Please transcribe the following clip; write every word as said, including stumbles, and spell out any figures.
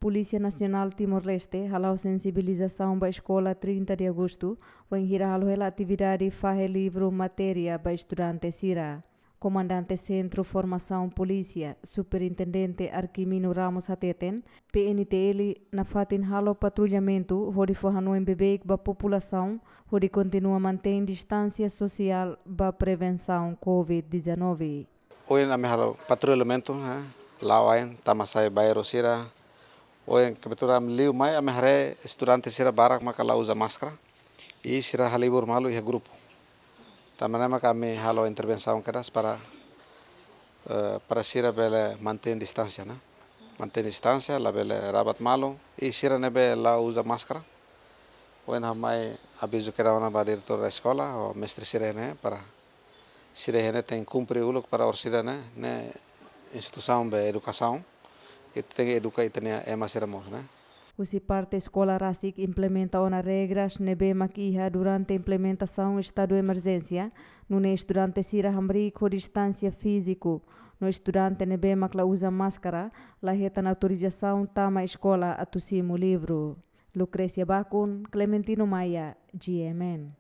Polísia Nasionál Timor-Leste hala'o sensibilizasaun ba eskola trinta de Agostu, wainhira halo hela atividade fahe livru matéria ba estudante sira. Komandante Sentru Formasaun Polísia, Superintendente Arquimino Ramos hateten, P N T L nafatin halo patrullamentu hodi fó hanoin beibeik ba populasaun hodi kontinua mantein distánsia sosiál ba prevensaun covid dezanove. Ohin ami halo patrullamentu, eh, la'o ain tama sai bairru sira. Ohin kebetulan liu mai ami haree estudante sira barak maka la uza máskara. I sira halibur malu iha grupu. Tanba ne'e maka ami halo intervensaun kedas para, eh, para sira bele mantein distánsia, ne'e. Mantein distánsia, labele rabat malu. I sira ne'ebé la uza máskara, ohin ha'u mai avizu kedas ona ba diretór da eskola, ho mestre sira ne'e, para sira ne'e tenke kumpre uluk para orsida ne'e, ne'e instituisaun ba edukasaun, i tenke eduka ita-nia ema sira mós, ne'e. Husi parte eskola rasik implementa ona regras ne'ebé mak iha durante implementasaun estadu emerjénsia, nune'e estudante sira hamriik ho distánsia fíziku, no estudante ne'ebé mak la uza máskara, la hetan autorizasaun tama eskola atu simu livru. Lucrecia Bakun, Clementino Maia, G M N.